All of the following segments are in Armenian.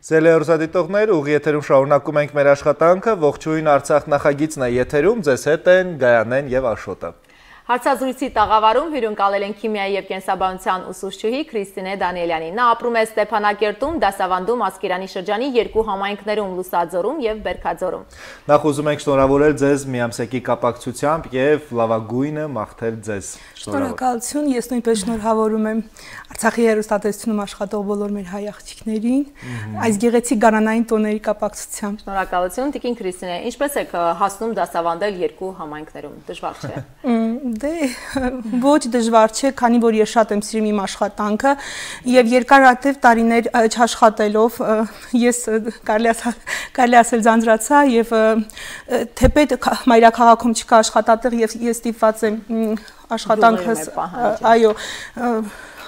Սիրելի հեռուստադիտողներ, ուղիղ եթերում շարունակում ենք մեր աշխատանքը, ողջույն Արցախ նախագիծն է եթերում, ձեզ հետ են Գայանեն եւ Աշոտը։ Հարցազրույցի տաղավարում հյուրընկալել են քիմիայի եւ կենսաբանության ուսուցչուհի Քրիստինե Դանիելյանին։ Նա ապրում է Ստեփանակերտում, դասավանդում Ասկերանի շրջանի երկու համայնքներում՝ Լուսաձորում եւ Բերքաձորում։ Նախ ուզում ենք շնորհավորել ձեզ միամսեկի կապակցությամբ եւ լավագույնը մաղթել ձեզ։ Շնորհակալություն, ես նույնպես շնորհավորում եմ Արցախի հեռուստատեսությունում աշխատող բոլոր մեր հայ աղջիկներին, այս գեղեցիկ գարանային տոների կապակցությամբ։ Շնորհակալություն, Տիկին Քրիստինե, ինչպես եք հասնում դասավանդել երկու համայնքներում, դժվար չէ։ Դե ոչ դժվար չէ, քանի որ ես շատ եմ սիրում իմ աշխատանքը եւ երկարատև տարիներ չաշխատելով ես կարելի ասել ձանձրացա եւ թեպետ մայրաքաղաքում չկա աշխատատեղ եւ ես ստիպված եմ աշխատանքս այո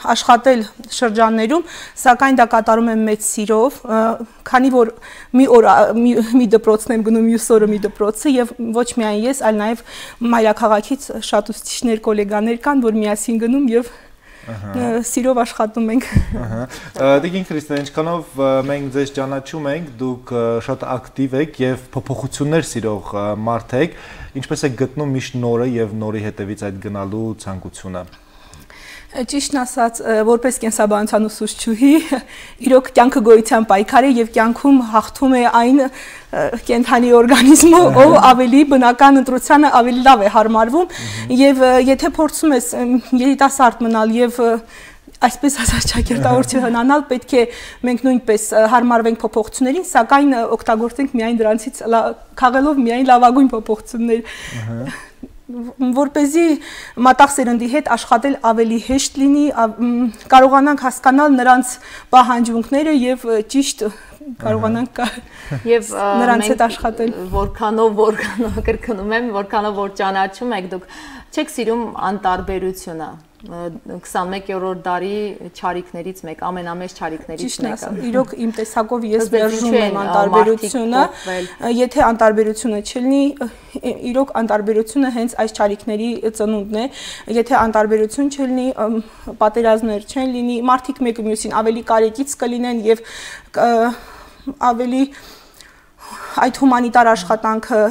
աշխատել շրջաններում, սակայն դա կատարում եմ մեծ սիրով, քանի որ մի դպրոցն եմ գնում, մյուս օրը մի դպրոցը եւ ոչ միայն ես, այլ նաեւ մայրաքաղաքից շատ ուսուցիչներ, գոլեգաներ կան, որ միասին գնում եւ սիրով աշխատում ենք։ Տիկին Քրիստինե, ինչքանով մենք ձեզ ճանաչում ենք, դուք շատ ակտիվ եք եւ փոփոխություններ սիրող մարդ եք, ինչպես եք գտնում միշտ նորը եւ նորի հետևից այդ գնալու ցանկությունը։ Ճիշտն ասած, որպես կենսաբանության ուսուցչուհի, իրոք կյանքը գոյության պայքար է եւ կյանքում հաղթում է այն կենդանի օրգանիզմը, ով ավելի բնական ընտրությանը ավելի լավ է հարմարվում եւ եթե փորձում ես երիտասարդ մնալ եւ այսպես ասած ճակերտավոր չհնանալ, պետք է մենք նույնպես հարմարվենք փոփոխություններին, սակայն օգտագործենք միայն դրանցից քաղելով միայն լավագույն փոփոխություններ որպեսզի մատաղ սերնդի հետ աշխատել ավելի հեշտ լինի, կարողանանք հասկանալ նրանց պահանջմունքները եւ ճիշտ կարողանանք եւ նրանց հետ աշխատել։ Որքանով կրկնում եմ, որքանով որ ճանաչում եք դուք, չեք սիրում անտարբերությունը։ 21-րդ դարի չարիքներից մեկ, ամենամեծ չարիքներից մեկը։ Իրոք իմ տեսակով ես մերժում եմ անտարբերությունը, եթե անտարբերությունը չլինի, իրոք անտարբերությունը հենց այս չարիքների ծնունդն է, եթե անտարբերություն չլինի, պատերազմներ չեն լինի, մարդիկ մեկը մյուսին ավելի կարեկից կլինեն եւ ավելի այդ հումանիտար աշխատանքը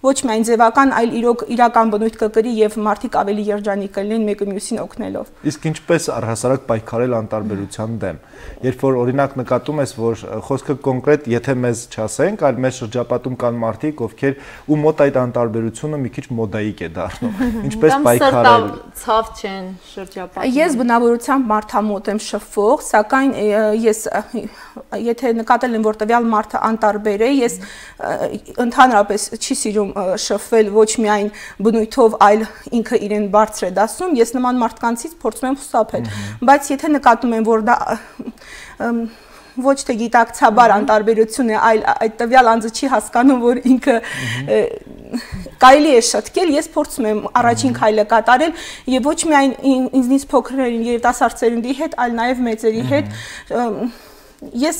ոչ միայն ձևական, այլ իրոք իրական բնույթ կկրի եւ մարդիկ ավելի երջանիկ կլինեն մեկը մյուսին օգնելով։ Իսկ ինչպես առհասարակ պայքարել անտարբերության դեմ։ Երբ որ օրինակ նկատում ես, որ խոսքը կոնկրետ, եթե մեզ չասենք, այլ մեր շրջապատում կան մարդիկ, ովքեր ու մոտ այդ անտարբերությունը մի քիչ մոդայիկ է դառնում։ Ինչպես պայքարել։ Ցավ չեն շրջապատում։ Ես բնավորությամբ մարդամոտ եմ շփվող, սակայն ես եթե նկատել եմ, որ տվյալ մարդը անտարբեր է, ես ընդհանրապես չի սիրում շփվել ոչ միայն բնույթով, այլ ինքը իրեն բարձր է դասում, ես նման մարդկանցից փորձում եմ խուսափել, բայց եթե նկատում եմ, որ դա ոչ թե գիտակցաբար անտարբերություն է, այլ այդ տվյալ անձը չի հասկանում, որ ինքը կարելի է շտկել, ես փորձում եմ առաջին քայլը կատարել եւ ոչ միայն ինձնից փոքրերին երիտասարդ սերունդի հետ, այլ նաեւ մեծերի հետ ես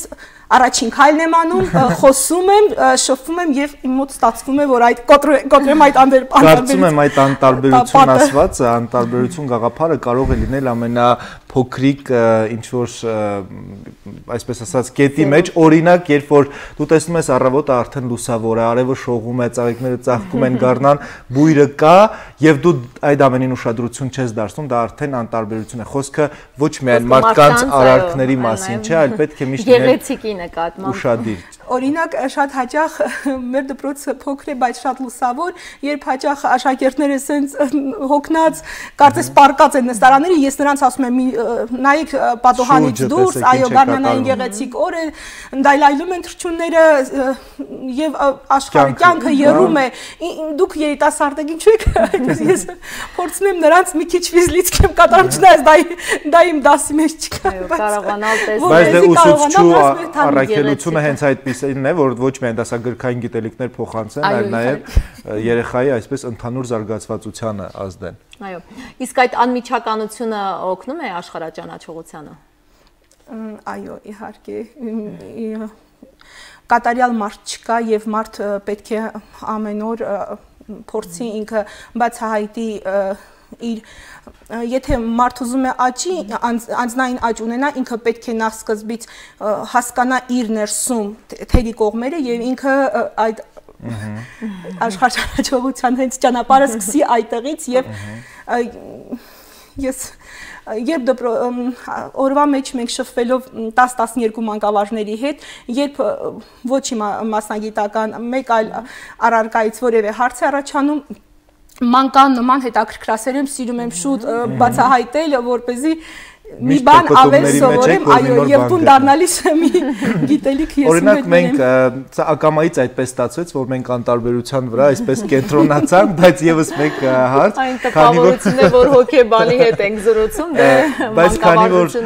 առաջին քայլն եմ անում, խոսում եմ, շփվում եմ եւ իմ մոտ ստացվում է, որ այդ կոտրեմ այդ կարծում եմ այդ անտարբերություն ասվածը, անտարբերություն գաղափարը կարող է լինել ամենափոքրիկ ինչ որ այսպես ասած կետի մեջ, օրինակ, երբ որ դու տեսնում ես առավոտը արդեն լուսավոր է, արևը շողում է, ծաղիկները ծաղկում են, գառնան, բույրը կա եւ դու այդ ամենին ուշադրություն չես դարձնում, դա արդեն անտարբերություն է։ Խոսքը ոչ միայն մարդկանց արարքների մասին չէ, այլ պետք է միշտ նկատմամբ։ Օրինակ շատ հաճախ մեր դպրոցը փոքր է, բայց շատ լուսավոր, երբ հաճախ աշակերտները սենց հոգնած, կարծես պարկած են նստարանները, ես նրանց ասում եմ նայեք պատոհանից դուրս, այո, գարնանային գեղեցիկ օր է, դայլայլում են թռչունները եւ աշխարհը կյանքը եռում է, դուք երիտասարդ եք, ինչու եք այդպես ես փորձում եմ նրանց մի քիչ վիզլից եմ կատարում, չնայած դա իմ դասի մեջ չկա, կարողանալ տեսնել, բայց դե ուսուցչու առաքելությունը հենց այդպիսին է, որ ոչ միայն դասագրքային գիտելիքներ փոխանցեն, այլ նաև երեխայի այսպես ընդհանուր զարգացվածությանը ազդեն։ Այո։ Իսկ այդ անմիջականությունը օգնում է աշխարհաճանաչողությանը։ Այո, իհարկե։ Կատարյալ մարդ չկա եւ մարդ պետք է ամեն օր փորձի ինքը բացահայտի եթե մարդ ուզում է աճի, անձնային աճ ունենա, ինքը պետք է նախ սկզբից հասկանա իր ներսում թերի կողմերը եւ ինքը այդ աշխարհաճողության հենց ճանապարհը սկսի այդտեղից եւ ես երբ օրվա մեջ մենք շփվելով 10-12 մանկավարժների հետ, երբ ոչ իմ մասնագիտական մեկ այլ առարկայից որևէ հարց է առաջանում, մանկան նման հետաքրքրասեր եմ, սիրում եմ շուտ բացահայտել, որպեսզի մի բան ավել սովորեմ, այո, եւ տուն դառնալիս մի գիտելիք ես ունեմ։ Օրինակ մենք ակամայից այդպես ստացվեց, որ մենք անտարբերության վրա այսպես կենտրոնացանք, բայց եւս մեկ հարց, այն տպավորությունն է, որ հոգեբանի հետ ենք զրուցում, բայց քանի որ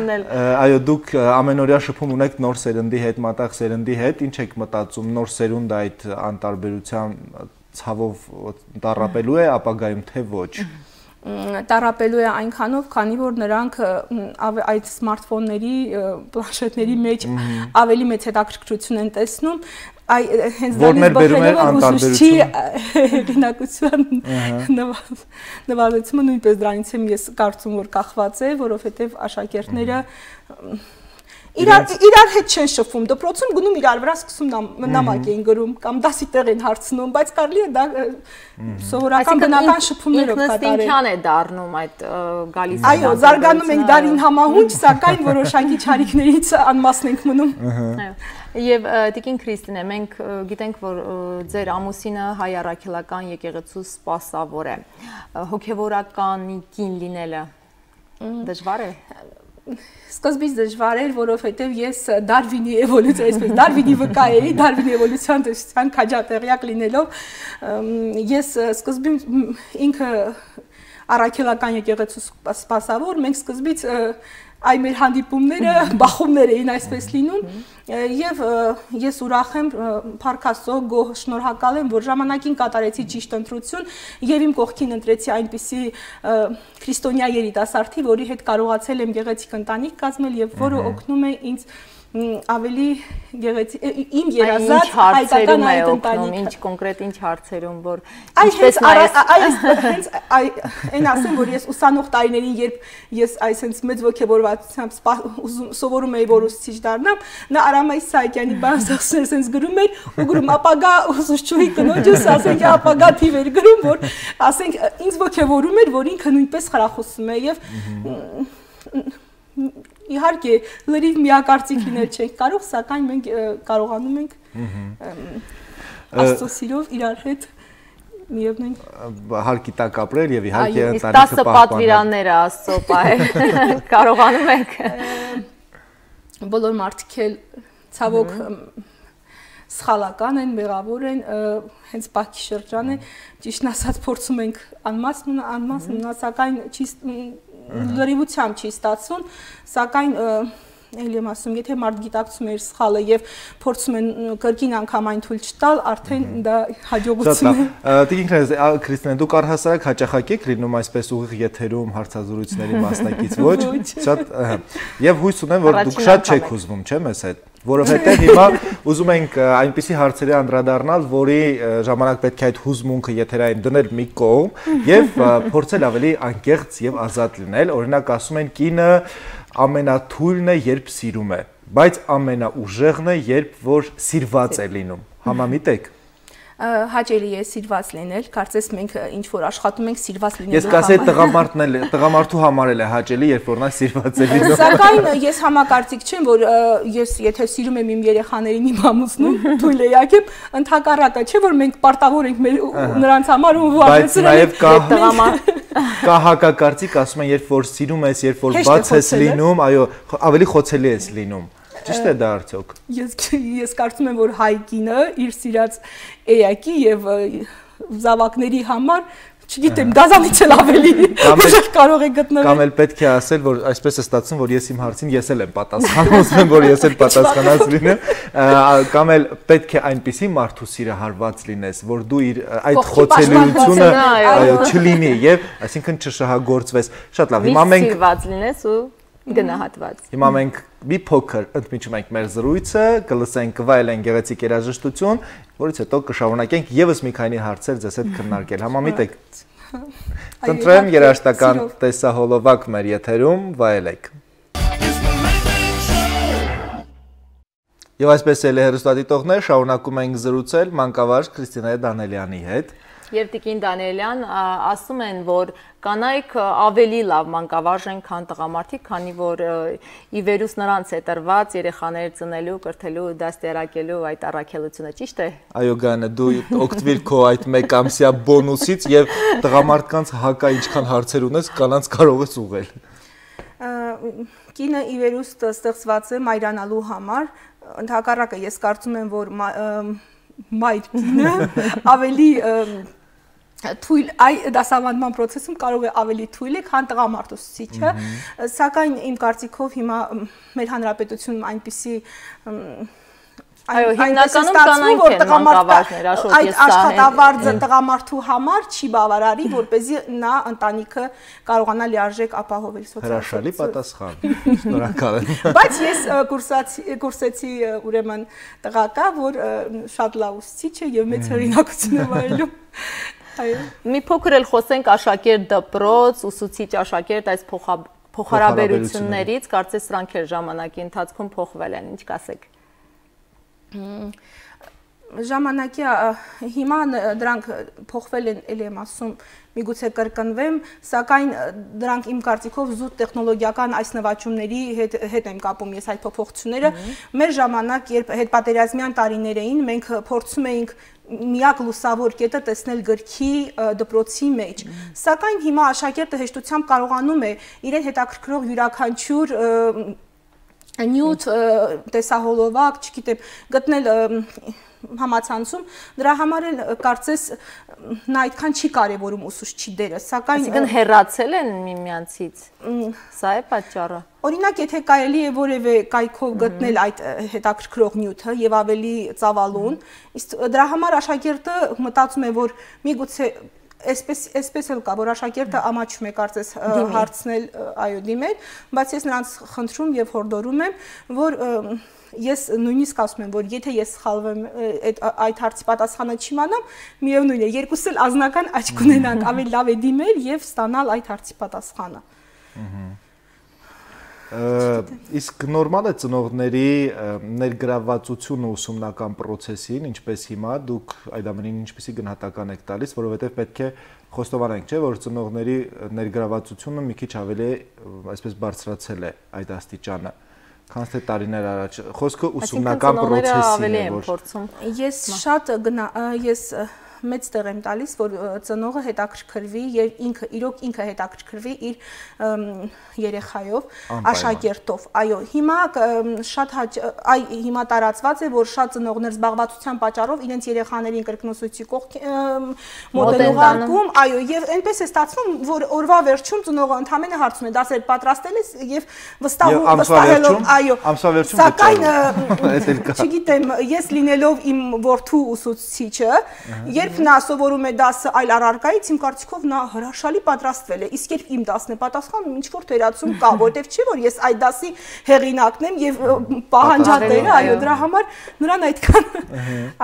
այո, դուք ամենօրյա շփում ունեք նոր սերնդի հետ, մատաղ սերնդի հետ, ինչ եք մտածում, նոր սերունդը այդ անտարբերության ցավով տառապելու է, ապագայում թե ոչ։ Տառապելու է այնքանով, քանի որ նրանք այդ սմարթֆոնների, պլանշետների մեջ ավելի մեծ հետաքրքրություն են տեսնում, հենց դրանից բխելով ուսուցչի հեղինակության նվազեցումը նույնպես դրանից եմ ես կարծում, որ կախված է, որովհետև աշակերտները իրար հետ չեն շփվում, դպրոցում գնում իրար վրա սկսում նամակ էին գրում կամ դասի տեղ են հարցնում, բայց կարելի է դա սովորական բնական շփումներով կատարել։ Ինքնըստինքյան է դառնում այդ գալիս։ Այո, զարգանում ենք դարին համահունչ, սակայն որոշակի չարիքներից անմասն ենք մնում։ Եվ Տիկին Քրիստինե, մենք գիտենք, որ ձեր ամուսինը հայ առաքելական եկեղեցու սպասավոր է։ Հոգևորականի կին լինելը դժվար է։ Սկզբից դժվար էր, որովհետև ես Դարվինի էվոլյուցիա, այսպես Դարվինի վկա էի, Դարվինի էվոլյուցիան տեսության քաջատեղյակ լինելով, ես սկզբից ինքը առաքելական եկեղեցու սպասավոր, մենք սկզբից այ մեր հանդիպումները բախումներ էին այսպես լինում եւ ես ուրախ եմ Փառք Աստծո գոհ շնորհակալ եմ որ ժամանակին կատարեցի ճիշտ ընտրություն եւ իմ կողքին ընտրեցի այնպիսի քրիստոնյա երիտասարդի որի հետ կարողացել եմ գեղեցիկ ընտանիք կազմել եւ որը օգնում է ինձ ավելի գեղեցիկ իմ երազած հայկական այդ ընտանիքը ինչ կոնկրետ ինչ հարցերում որ ինչպես հենց այն ասեմ որ ես ուսանող տարիներին երբ ես այսպես մեծ ոգևորվածությամբ սովորում էի որ ուսուցիչ դառնամ նա Արամայ Սահակյանի բանաստեղծներ այսպես գրում էր ու գրում ապագա ուսուցչուհի կնոջս ասենք ապագա թիվեր գրում որ ասենք ինձ ոգևորում էր որ ինքը նույնպես խրախուսում է եւ իհարկե լրիվ միակարծիք լինել չենք կարող, սակայն մենք կարողանում ենք Աստծո սիրով իրար հետ միևնույն հարկի տակ ապրել եւ իհարկե ընտանիքը պահպանել։ 10 պատվիրանները Աստծո պահել կարողանում ենք։ Բոլոր մարդիկ էլ ցավոք սխալական են, մեղավոր են, հենց Բաքի շրջան է, ճիշտն ասած փորձում ենք անմասն, սակայն չի լրիվությամբ չի ստացվում, սակայն էլի եմ ասում, եթե մարդ գիտակցում է իր սխալը եւ փորձում են կրկին անգամ այն թույլ չտալ, արդեն դա հաջողություն է։ Տիկին Քրիստինե, դուք առհասարակ հաճախակ եք լինում այսպես ուղիղ եթերում հարցազրույցների մասնակից, ոչ? Շատ եւ հույս ունեմ, որ դուք շատ չեք հուզվում, չէ՞ մեզ հետ։ Որովհետև հիմա ուզում ենք այնպիսի հարցերի անդրադառնալ, որի ժամանակ պետք է այդ հուզմունքը եթերային դնել մի կողմ եւ փորձել ավելի անկեղծ եւ ազատ լինել։ Օրինակ ասում են կինը ամենաթույլն է, երբ սիրում է, բայց ամենաուժեղն է, երբ որ սիրված է լինում։ Համամիտ եք։ Հաճելի է սիրված լինել, կարծես մենք ինչ որ աշխատում ենք սիրված լինելու համար։ Ես կասեի տղամարդու համար էլ է հաճելի, երբ որ նա սիրված է լինում։ Սակայն ես համակարծիք չեմ, որ ես եթե սիրում եմ իմ երեխաներին իմ ամուսնուն, թույլ է յակեմ, ընդհակառակը չէ, որ մենք պարտավոր ենք նրանց համար ու վարեցնել կա հակակարծիք, ասում են, երբ որ սիրում ես, երբ որ բաց ես լինում, այո, ավելի խոցելի ես լինում։ Ճիշտ է դա արդյոք։ Ես կարծում եմ, որ հայ կինը իր սիրած էակի եւ զավակների համար, չգիտեմ, դազանից էլ ավելի ուժեղ կարող է գտնվել։ Կամ էլ պետք է ասել, որ այսպես է ստացվում, որ ես իմ հարցին ես էլ եմ պատասխանում, ուզում եմ, որ ես էլ պատասխանած լինեմ, կամ էլ պետք է այնպիսի մարդու սիրահարված լինես, որ դու իր այդ խոցելիությունը չլինի եւ այսինքն չշահագործվես։ Շատ լավ, հիմա մենք սիրված լինես ու գնահատված։ Հիմա մենք մի փոքր ընդմիջում ենք մեր զրույցը, կլսենք վայելեն գեղեցիկ երաժշտություն, որից հետո կշարունակենք եւս մի քանի հարցեր ձեզ հետ քննարկել։ Համամիտ եք։ Խնդրեմ երաժշտական տեսահոլովակ մեր եթերում վայելեք։ Եվ այսպես էլ հեռուստադիտողներ շարունակում ենք զրուցել մանկավարժ Քրիստինե Դանելյանի հետ։ Եվ Տիկին Դանելյան ասում են, որ կանայք ավելի լավ մանկավարժ են, քան տղամարդիկ, քանի որ ի վերուս նրանց է տրված երեխաներ ծնելու, կրթելու, դաստիարակելու այդ առաքելությունը, ճիշտ է։ Այո, Գայանե, դու օգտվիր քո այդ մեկամսյա բոնուսից եւ տղամարդկանց հակա ինչքան հարցեր ունես, կանանց կարող ես ուղղել։ Կինը ի վերուս ստեղծված է մայրանալու համար, ընդհակառակը ես կարծում եմ, որ մայր կինը ավելի թույլ այ դասավանդման process-ում կարող է ավելի թույլ է, քան տղամարդ ուսուցիչը, սակայն իմ կարծիքով հիմա մեր հանրապետությունում այնպիսի Այո, հիմնականում կանայք են մանկավարժներ, աշխոտ ես սա աշխատավարձը տղամարդու համար չի բավարարի, որպեսզի նա ընտանիքը կարողանա լիարժեք ապահովել սոցիալ։ Հրաշալի պատասխան։ Շնորհակալ եմ։ Բայց ես կուրսեցի ուրեմն տղակա, որ շատ լավ ուսուցիչ է եւ մեծ հեղինակություն է վայելում։ Այո։ Մի փոքր էլ խոսենք աշակերտ դպրոց, ուսուցիչ աշակերտ այս փոխհարաբերություններից, կարծես սրանք էլ ժամանակի ընթացքում փոխվել են, ինչ կասեք։ Ժամանակի հիմա դրանք փոխվել են, ելի եմ ասում, միգուցե կրկնվեմ, սակայն դրանք իմ կարծիքով զուտ տեխնոլոգիական այս նվաճումների հետ եմ կապում ես այդ փոփոխությունները։ Մեր ժամանակ, երբ հետպատերազմյան տարիներ էին, մենք փորձում էինք միակ լուսավոր կետը տեսնել գրքի դպրոցի մեջ։ Սակայն հիմա աշակերտը հեշտությամբ կարողանում է իրեն հետաքրքրող յուրաքանչյուր նյութ տեսահոլովակ, չգիտեմ, գտնել համացանցում, դրա համար էլ կարծես նա այդքան չի կարևորում ուսուցչի դերը, սակայն այսինքն հեռացել են միմյանցից։ Սա է պատճառը։ Օրինակ, եթե կարելի է որևէ կայքով գտնել այդ հետաքրքրող նյութը եւ ավելի ծավալուն, իսկ դրա համար աշակերտը մտածում է, որ միգուցե Այսպես էլ կա, որ աշակերտը ամաչում է կարծես հարցնել, այո, դիմել, բայց ես նրանց խնդրում եւ հորդորում եմ, որ ես նույնիսկ ասում եմ, որ եթե ես սխալվեմ այդ հարցի պատասխանը չիմանամ, միևնույն է, երկուսս էլ ազնական աչք ունենանք, ավելի լավ է դիմել եւ ստանալ այդ հարցի պատասխանը։ Իսկ նորմալ է ծնողների ներգրավվածությունը ուսումնական process-ին, ինչպես հիմա դուք այդ ամենին ինչպեսի գնահատական եք տալիս, որովհետև պետք է խոստովանենք, չէ, որ ծնողների ներգրավվածությունը մի քիչ ավելի այսպես բարձրացել է այդ աստիճանը, քան թե տարիներ առաջ։ Խոսքը ուսումնական process-ին է, որ ես մեծ տեղ եմ տալիս, որ ծնողը հետաքրքրվի եւ ինքը հետաքրքրվի իր երեխայով, աշակերտով։ Այո, հիմա շատ հիմա տարածված է, որ շատ ծնողներ զբաղվածության պատճառով իրենց երեխաներին կրկնուսույցի մոտ են ուղարկում, այո, եւ այնպես է ստացվում, որ օրվա վերջում ծնողը ընդամենը հարցում է՝ դասեր պատրաստել ես եւ վստահելով, այո, սակայն չգիտեմ, ես լինելով իմ որդու ուսուցիչը, երբ նա սովորում է դասը այլ առարկայից, իմ կարծիքով նա հրաշալի պատրաստվել է, իսկ երբ իմ դասն է պատասխանում, ինչ որ թերացում կա, որտեվ չի որ ես այդ դասի հեղինակն եմ եւ պահանջատերը, այո, դրա համար նրան այդքան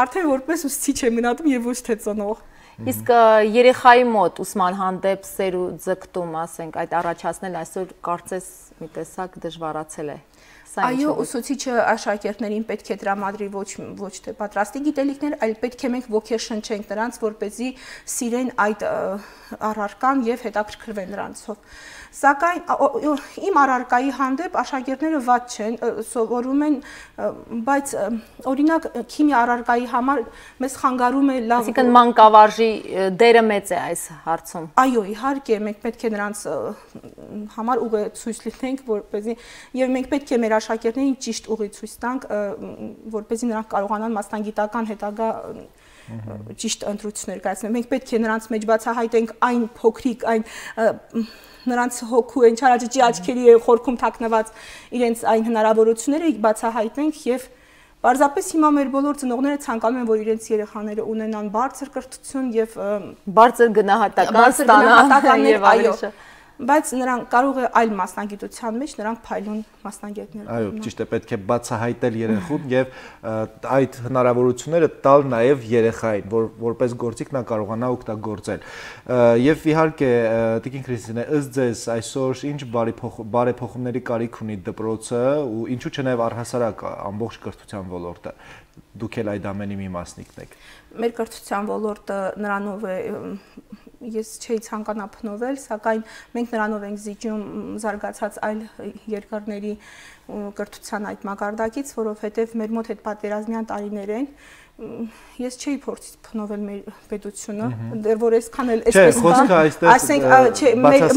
արդեն որպես ուսուցիչ է մնացում եւ ոչ թե ծնող։ Իսկ երեխայի մոտ ուսման հանդեպ սեր ու ձգտում, ասենք, այդ առաջացնել այսօր կարծես մի տեսակ դժվարացել է։ Այո, ուսուցիչը աշակերտներին պետք է տրամադրի ոչ թե պատրաստի գիտելիքներ, այլ պետք է մենք ոգեշնչենք նրանց, որպեսզի սիրեն այդ առարկան եւ հետաքրքրվեն նրանցով։ Սակայն իմ առարկայի հանդեպ աշակերտները վատ չեն, սովորում են, բայց օրինակ քիմիա առարկայի համար մեզ խանգարում է լավ։ Այսինքն մանկավարժի դերը մեծ է այս հարցում։ Այո, իհարկե, մենք պետք է նրանց համար ուղեցույց լինենք, որպեսզի եւ մենք պետք է մեր աշակերտներին ճիշտ ուղեցույց տանք, որպեսզի նրանք կարողանան մասնագիտական հետագա ճիշտ ընտրություններ կայացնել։ Մենք պետք է նրանց մեջ բացահայտենք այն փոքրիկ, այն նրանց հոգու են չարաճճի աչքերի խորքում թաքնված իրենց այն հնարավորությունները բացահայտենք եւ պարզապես հիմա մեր բոլոր ծնողները ցանկանում են, որ իրենց երեխաները ունենան բարձր կրթություն եւ բարձր գնահատական ստանան եւ այո։ բայց նրանք կարող է այլ մասնագիտության մեջ նրանք փայլուն մասնագետներ լինեն։ Այո, ճիշտ է, պետք է բացահայտել երեխուն եւ այդ հնարավորությունները տալ նաեւ երեխային, որ որպես գործիք նա կարողանա օգտագործել։ Եվ իհարկե, Տիկին Քրիստինե, ըստ ձեզ այսօր ինչ բարեփոխումների կարիք ունի դպրոցը ու ինչու՞ չէ նաեւ առհասարակ ամբողջ կրթության ոլորտը։ Դուք էլ այդ ամենի մի մասնիկն եք։ Մեր կրթության ոլորտը նրանով է ես չէի ցանկանա փնովել, սակայն մենք նրանով ենք զիջում զարգացած այլ երկրների կրթության այդ մակարդակից, որովհետև մեր մոտ հետ պատերազմյան տարիներ են, ես չէի փորձի փնովել մեր պետությունը, դեռ որ այսքան էլ այսպես ասենք,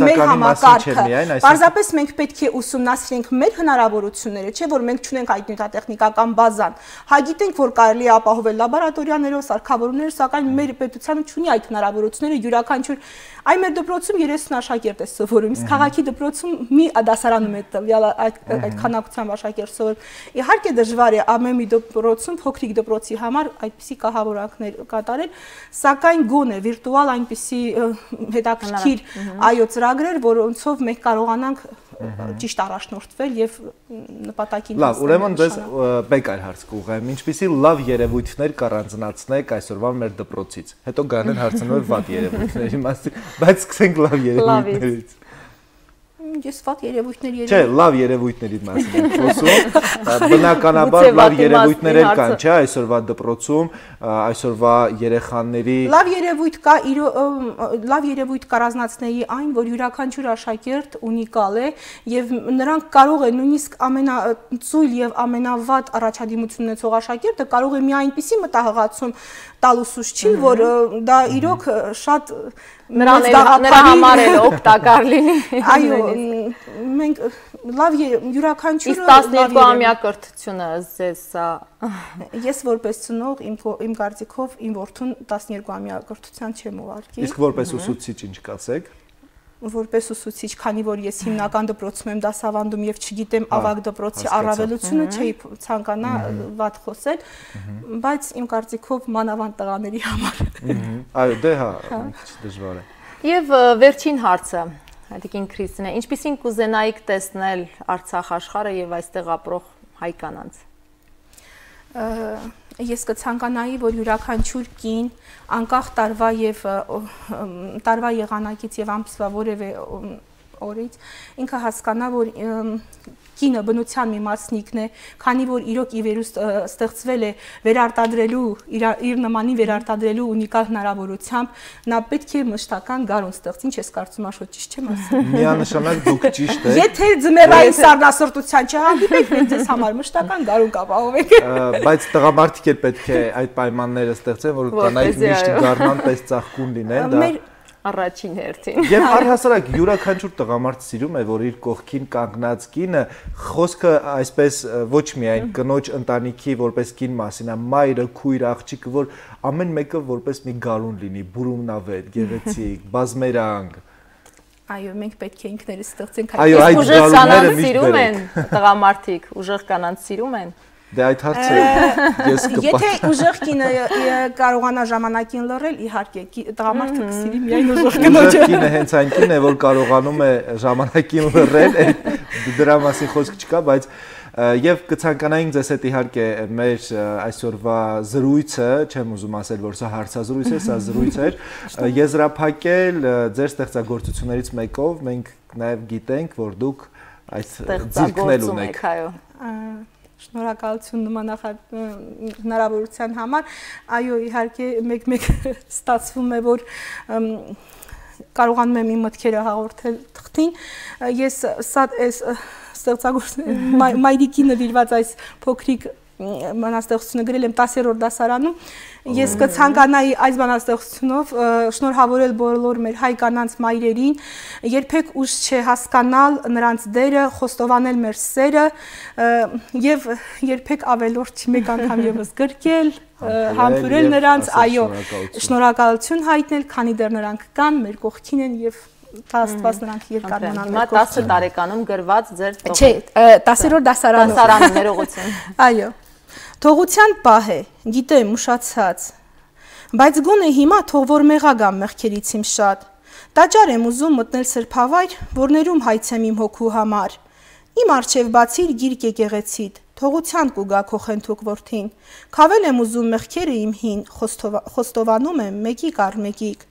մեր համակարգը, պարզապես մենք պետք է ուսումնասիրենք մեր հնարավորությունները, չէ՞ որ մենք չունենք այդ նյութատեխնիկական բազան, հա գիտենք, որ կարելի է ապահովել լաբորատորիաներով, սարքավորումներով, սակայն մեր պետությունը չունի այդ հնարավորությունները, յուրաքանչյուր այ մեր դպրոցում 30 աշակերտ է սովորում, իսկ քաղաքի դպրոցում մի դասարանում է տվյալ այդ քանակությամբ աշակերտ սովորում։ Իհարկե դժվար է ամեն մի դպրոցում փոքրիկ դպրոցի համար այդպիսի կահավորանքներ կատարել, սակայն գոնե վիրտուալ այնպիսի հետաքրքիր այո ծրագրեր, որոնցով մենք կարողանանք ճիշտ առաջնորդվել եւ նպատակին հասնել։ Լավ, ուրեմն դες մեկ այլ հարց կուղեմ, ինչպիսի լավ երևույթներ կառանձնացնեք այսօրվա մեր դպրոցից։ Հետո գանեն հարցնոր վատ երևույթների մասին, բայց սկսենք լավ երևույթներից։ Ես վատ երևույթների Չէ, լավ երևույթների մասին եմ խոսում։ Բնականաբար լավ երևույթներ կան, չէ, այսօրվա դպրոցում, այսօրվա երեխաների Լավ երևույթ կա, լավ երևույթ կառանձնացնեի այն, որ յուրաքանչյուր աշակերտ ունիկալ է եւ նրանք կարող են նույնիսկ ամենածույլ եւ ամենավատ առաջադիմություն ունեցող աշակերտը կարող է մի այնպիսի մտահղացում տալ ուսուցչին, որ դա իրոք շատ նրա համար էլ օգտակար լինի։ Այո, մենք լավ յուրաքանչյուրը Իսկ 12-ամյա կրթությունը ձեզ սա Ես որպես ծնող իմ կարծիքով իմ որդուն 12-ամյա կրթության չեմ ուղարկի։ Իսկ որպես ուսուցիչ ինչ կասեք։ Որպես ուսուցիչ, քանի որ ես հիմնական դպրոցում եմ դասավանդում եւ չգիտեմ ավագ դպրոցի առավելությունը, չէի ցանկանա վատ խոսել, բայց իմ կարծիքով մանավանդ տղաների համար։ Այո, դե հա, մի քիչ դժվար է։ Եվ վերջին հարցը, Տիկին Քրիստինե, ինչպիսին կուզենայիք տեսնել Արցախ աշխարհը եւ այստեղ ապրող հայ կանանց։ Ես կցանկանայի, որ յուրաքանչյուր կին անկախ տարվա եղանակից եւ ամսվա որևէ օրից ինքը հասկանա, որ կինը բնության մի մասնիկն է, քանի որ իրոք ի վերուստ ստեղծվել է վերարտադրելու իր նմանին վերարտադրելու ունիկալ հնարավորությամբ, նա պետք է մշտական գարուն ստեղծի, ինչ ես կարծում աշոտ ճիշտ չեմ ասում։ Միանշանակ դուք ճիշտ եք։ Եթե ձմեռային սառնասրտության չհանդիպեք, մենք ձեզ համար մշտական գարուն կապահովենք։ Բայց տղամարդիկ էլ պետք է այդ պայմանները ստեղծեն, որ կանայք միշտ գարնան պես ծաղկուն լինեն, դա Առաջին հերթին։ Եվ առհասարակ յուրաքանչյուր տղամարդ սիրում է, որ իր կողքին կանգնած կինը խոսքը այսպես ոչ միայն կնոջ ընտանիքի որպես կին մասին, այլ մայրը, քույրը, աղջիկը, որ ամեն մեկը որպես մի գարուն լինի, բուրումնավետ, գեղեցիկ, բազմերանգ։ Այո, մենք պետք է ինքներս ստեղծենք այդ ուժեղ կանանց սիրում են տղամարդիկ, ուժեղ կանանց սիրում են։ Դե այդ հարցը ես կպատասխանեմ։ Եթե ուժեղ կինը կարողանա ժամանակին լռել, իհարկե տղամարդը կսիրի միայն ուժեղ կնոջը։ Ուժեղ կինը հենց այն կինն է, որ կարողանում է ժամանակին լռել, դրա մասին խոսք չկա, բայց եւ կցանկանայինք ձեզ հետ իհարկե մեր այսօրվա զրույցը, չեմ ուզում ասել, որ սա հարցազրույց է, սա զրույց էր, եզրափակել ձեր ստեղծագործություններից մեկով, մենք նաեւ գիտենք, որ դուք այս ձիրքն էլ ունեք։ Շնորհակալություն նմանախատ հնարավորության համար։ Այո, իհարկե մեկ-մեկ ստացվում է, որ կարողանում եմ իմ մտքերը հաղորդել թղթին։ Ես սա մայրիկի նվիրված այս փոքրիկ բանաստեղծությունը գրել եմ 10-րդ դասարանում։ Ես կցանկանայի այս բանաստեղծությունով շնորհավորել բոլոր մեր հայ կանանց մայրերին, երբեք ուշ չէ հասկանալ նրանց դերը, խոստովանել մեր սերը եւ երբեք ավելորդ չի մեկ անգամ եւս գրկել, համբուրել նրանց, այո, շնորհակալություն հայտնել, քանի դեռ նրանք կան, մեր կողքին են եւ Աստված նրանք երկար մնան։ Հիմա 10 տարեկանում գրված ձեր Չէ, 10-րդ դասարանում։ Դասարանում ներողություն։ Այո։ Թողության պահ է, գիտեմ, ուշացած, բայց գոնե հիմա թող որ մեղա գամ մեղքերից իմ շատ, Տաճար եմ ուզում մտնել սրբավայր, որներում հայցեմ իմ հոգու համար։ Իմ արջև բացիր գիրք եկեղեցիդ, թողության կուգա քո խենթուկ որդին։ Քավել եմ ուզում մեղքերը իմ հին, խոստովանում եմ մեկիկ առ մեկիկ։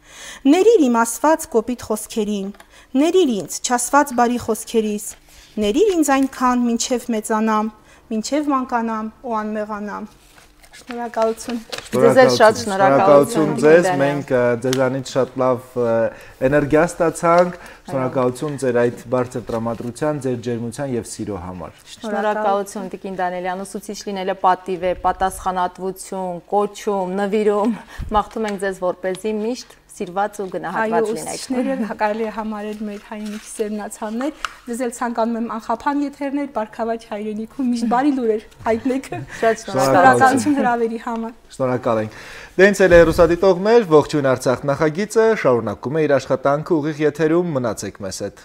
Ներիր իմ ասված կոպիտ խոսքերին, ներիր ինձ չասված բարի խոսքերիս, ներիր ինձ այնքան մինչև մեծանամ, մինչև մանկանամ ու անմեղանամ։ Շնորհակալություն։ Ձեզ շատ շնորհակալություն ձեզ, մենք ձեզանից շատ լավ էներգիա ստացանք, շնորհակալություն ձեր այդ բարձր տրամադրության, ձեր ջերմության եւ սիրո համար։ Շնորհակալություն Տիկին Դանիելյան, ուսուցիչ լինելը պատիվ է, պատասխանատվություն, կոչում, նվիրում, մաղթում ենք ձեզ որպեսզի միշտ սիրված ու գնահատված լինեք։ Ուսուցիչները կարելի է համարել մեր հայրենիքի սերմնացաններ, ձեզ էլ ցանկանում եմ անխափան եթերներ, Բարգավաճ հայրենիքում միշտ բարի լուրեր հայտնեք։ Շատ շնորհակալություն հրավերի համար։ Շնորհակալ ենք։ Դե ինձ էլ հեռուստադիտողներ, ողջույն Արցախ նախագիծը շարունակում է իր աշխատանքը ուղիղ եթերում, մնացեք մեզ հետ։